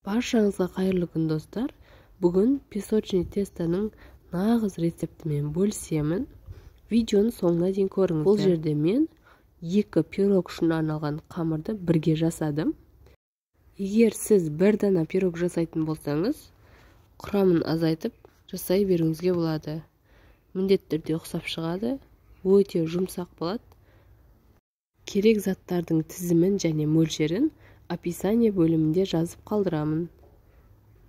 Баршаңызга кайырлуу күн достор. Бүгүн песочный тестоның нагыз рецепти менен бөлүшөмүн. Видеону соңуна чейин көрүңүздөр. Бул жерде мен 2 пирог ушуна арналган камырды бирге жасадым. Эгер сиз бир дана пирог жасайтын болсоңуз, курамын азайтып жасай берүүңүзгө болот. Міндеттерди оксап чыгады, өтө жумсак болот. Керек заттардын тизимин жана мөлчерин описание бөлүмүндө жазып калдырамын.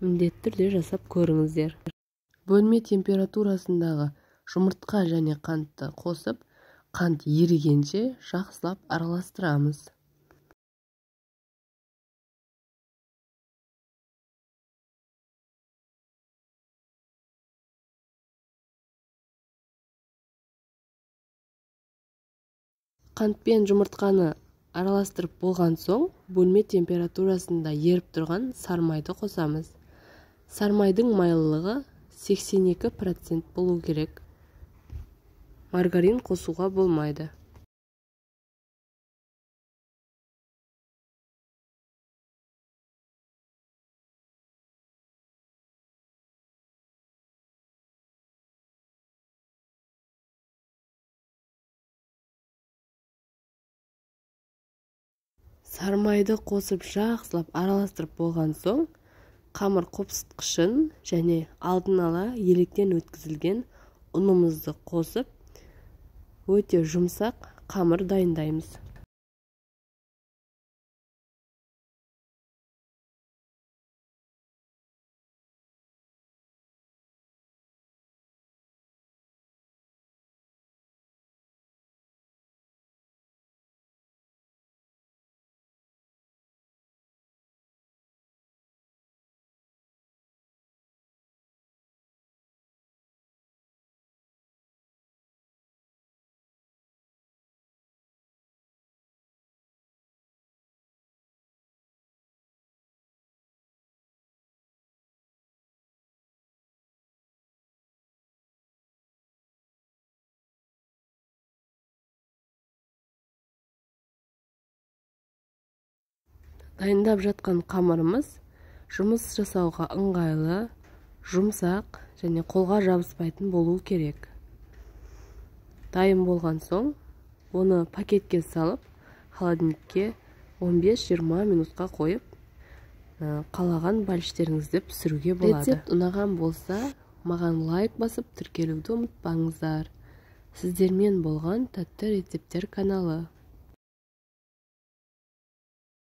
Міндетті түрдө жасап көрүңүздөр. Бөлмө температурасындагы жумуртка жана кантты косуп, кант эригенче жакшылап аралаштырабыз. Кант менен жумуртканы аралаштырып болгон соң, бөлмө температурасында ерип турган сармайды косабыз. Сармайдын майлылыгы 82% болуу керек. Маргарин косууга болмайды. Сармайды косуп жакшылап аралаштырып болгон соң, камыр копсуткучун жана алдын ала электен өткөзүлгөн унумузду косуп, өтө жумсак камыр дайындайбыз. Дайындап жаткан камырымыз жумуш жасауга ыңгайлы, жумсак жана колго жабыспайтын болуу керек. Дайын болгон соң, оны пакетке салып, холодильникке 15-20 минутка коюп, каалаган балиштериңизди пиширүүгө болот. Рецепт унаган болса, мага лайк басып, тиркелүүгү унутпаңыздар. Сиздер менен болгон Таттуу рецепттер каналы.